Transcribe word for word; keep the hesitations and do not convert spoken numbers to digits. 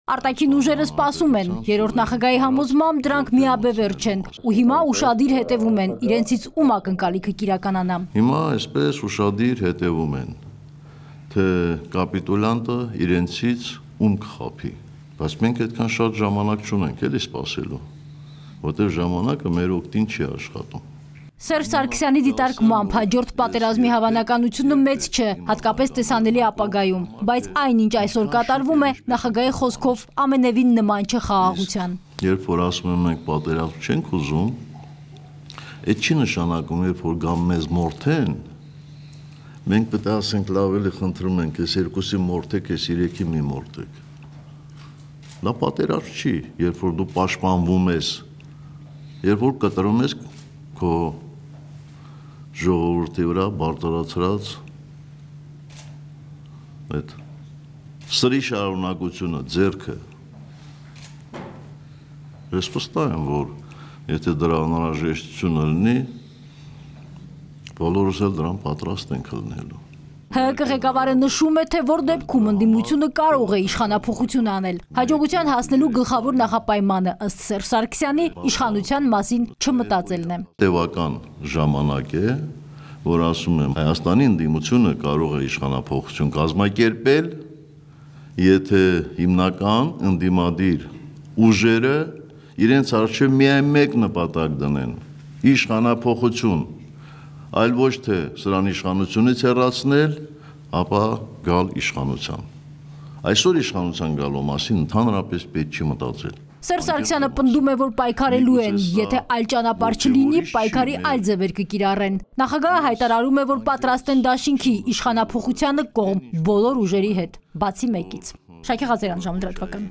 Արտաքին ուժերը սպասում են, երրորդ նախագահի համոզմամբ դրանք միաբևեռ չեն ու հիմա ուշադիր հետևում են իրենցից ում ակնկալիքը կիրականանա։ Հիմա այսպես ուշադիր հետևում են, թե կապիտուլյանտը իրենցից ում կխաբի, բայց մենք այդքան շատ ժամանակ չունենք էլի սպասելու, որտեղ ժամանակը մեր օգտին չի աշխատում։ Սերժ Սարգսյանի դիտարկմամբ հաջորդ պատերազմի հավանականությունը մեծ չէ, հատկապես տեսանելի ապագայում, բայց այնինչ այսօր կատարվում է նախագահի խոսքով ամենևին նման չէ խաղաղության։ Երբ որ ասում են մենք պատերազմ չենք ուզում, այդ չի նշանակում, երբ որ գամ մեզ մորթեն, մենք պետք է ասենք լավ էլի խնդրում ենք, այս երկուսի մորթեք, այս երեքի մի մորթեք։ Դա պատերազմ չի, երբ որ դու պաշտպանվում ես, երբ որ կտրում ես քո ժողովրդի վրա բարձրացրած այդ սրի շարունակությունը, ձեռքը։ Ես վստահ եմ, որ եթե դրա անհրաժեշտությունը լինի, բոլորս էլ դրան պատրաստ ենք լինելու։ ՀՀԿ ղեկավարը նշում է, թե որ դեպքում ընդդիմությունը կարող է իշխանափոխություն անել։ Հաջողության հասնելու գլխավոր նախապայմանը ըստ Սերժ Սարգսյանի իշխանության մասին չմտածելն է։ Տևական ժամանակ է, որ ասում եմ, Հայաստանի ընդդիմությունը կարող է իշխանափոխություն կազմակերպել, եթե հիմնական ընդդիմադիր ուժերը իրենց առջև միայն մեկ նպատակ դնեն՝ իշխանափոխություն, այլ ոչ թե սրան իշխանությունից հեռացնել, ապա գալ իշխանության։ Այսօր իշխանության գալու մասին ընդհանրապես պետք չի մտածել։ Սերժ Սարգսյանը պնդում է, որ պայքարելու են, եթե այլ ճանապարհ չլինի, պայքարի այլ ձևեր կկիրառեն։ Նախագահը հայտարարում է, որ պատրաստ են դաշինքի իշխանափոխությանը կողմ բոլոր ուժերի հետ, բացի մեկից։ Շակե Ղազարյան, Ժամանակ լրատվական։